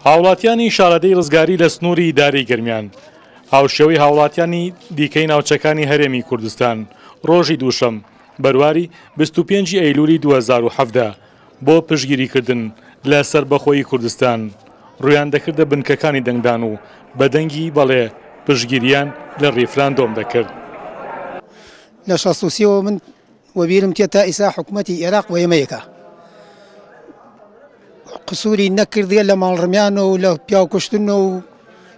هاوڵاتیانی شارەدێی ڕزگاری لە سنووری ئیدارەی گەرمیان، هاوشێوەی هاوڵاتیانی دیکەی ناوچەکانی هەرێمی کوردستان، ڕۆژی دووشەم، بەرواری 25 ی ئەیلولی 2017 بۆ پشتگیریکردن لە سەربەخۆیی کوردستان، ڕوویان دەکردە بنکەکانی دەنگدان و بە دەنگی بەڵێ پشتگیریان لە ڕیفراندۆم دەکرد. لە 63 ەوە من وەبیرم تێ تا ئیسا حکومەتی ئێراق وە ئێمە یەکە قسوری نەکردیە لە ماڵڕمیان و لە پیاوکوشتن و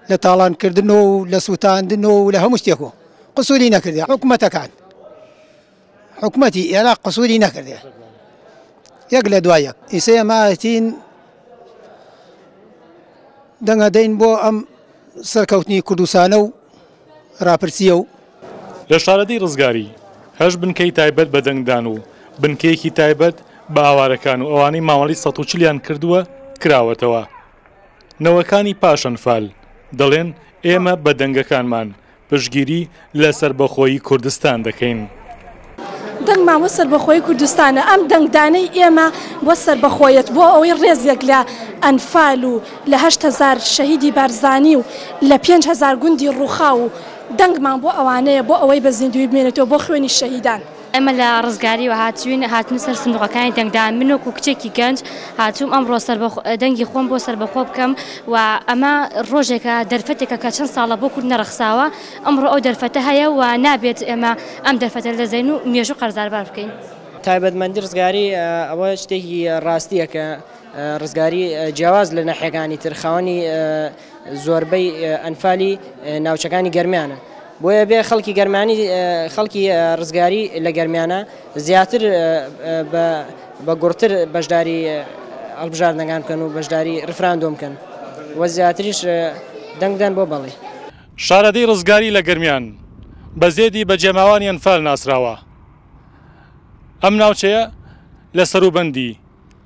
لە تاڵانکردن و لە سووتاندن و لە هەموو شتێک و قسوری نەکردی حکومەتەکان حکومەتی ئێراق قسوری نەکردێ یەک لە دوای یەک ئیسە ئێمە دەنگەدەین بۆ ئەم سەرکەوتنی کوردستانە و راپرسییە و. لە شارەدێی ڕزگاری، هەشت بنکەی تایبەت بە دەنگدان و بنکەیەکی تایبەت بە ئاوارەکان و ئەوانەی مامەڵەی 140 یان کردووە کراوەتەوە. نەوەکانی پاش ئەنفال دەڵێن ئێمە بە دەنگەکانمان پشتگیری لە سەربەخۆیی کوردستان دەکەین. دەنگمان بۆ سەربەخۆیی کوردستانە، ئەم دەنگدانەی ئێمە بۆ سەربەخۆیەت، بۆ ئەوەی ڕێزێک لە ئەنفال و لە 8000 شەهیدی بارزانی و لە 5000 گوندی ڕووخاو و دەنگمان بۆ ئەوانەیە بۆ ئەوەی بە زیندووی بمێنێتەوە بۆ خوێنی شەهیدان. ئێمە لە ڕزگاریوە هاتووین، هاتوون سەر سندوقەکانی دەنگدان، من وەکو کچێکی گەنج هاتووم ئەمڕۆ دەنگی خۆم بۆ سەربەخۆ بکەم و ئەمە ڕۆژێکە دەرفەتێکە کە چەند ساڵە بۆ کورد نەڕەخساوە، ئەمڕۆ ئەو دەرفەتە هەیە و نابێت ئێمە ئەم دەرفەتە لەدەست دەین و مێژوو قەرزاربار بکەین. تایبەتمەندی ڕزگاری ئەوە شتێکی ڕاستییە کە ڕزگاری جیاواز لە ناحیەکانی تر خاوەنی زۆربەی ئەنفالی ناوچەکانی گەرمیانە بۆیە بێ خەڵکی گەرمانی خەڵکی ڕزگاری لە گەرمیانە زیاتر بە گوڕتر بەشداری هەڵبژاردنەکان بکەن و بەشداری ڕفراندۆم بکەن و زیاتریش دەنگدان بۆ بەڵێ. شارەدێی ڕزگاری لە گەرمیان بە زێدی بەجێماوانی ئەنفال ناسراوە. ئەم ناوچەیە لە سەروبەندی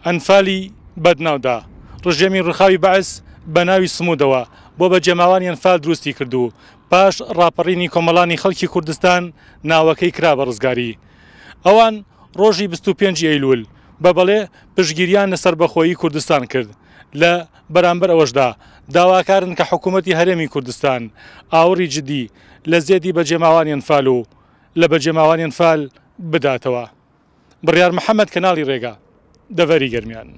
ئەنفالی بەدناودا، ڕژێمی ڕووخاوی بەعس بە ناوی سمودەوە بۆ بەجێماوانی ئەنفال دروستی کرد و پاش ڕاپەڕینی کۆمەڵانی خەڵکی کوردستان ناوەکەی کرا بە ڕزگاری. ئەوان ڕۆژی 25 ی ئەیلول بە بەڵێ پشتگیریان لە سەربەخۆیی کوردستان کرد، لە بەرامبەر ئەوەشدا داواکارن کە حکوومەتی هەرێمی کوردستان ئاوڕی جدی لە زێدی بەجێماوانی ئەنفال و لە بەجێماوانی ئەنفال بداتەوە. بڕیار محەمەد کەناڵی ڕێگا، دەڤەری گەرمیان.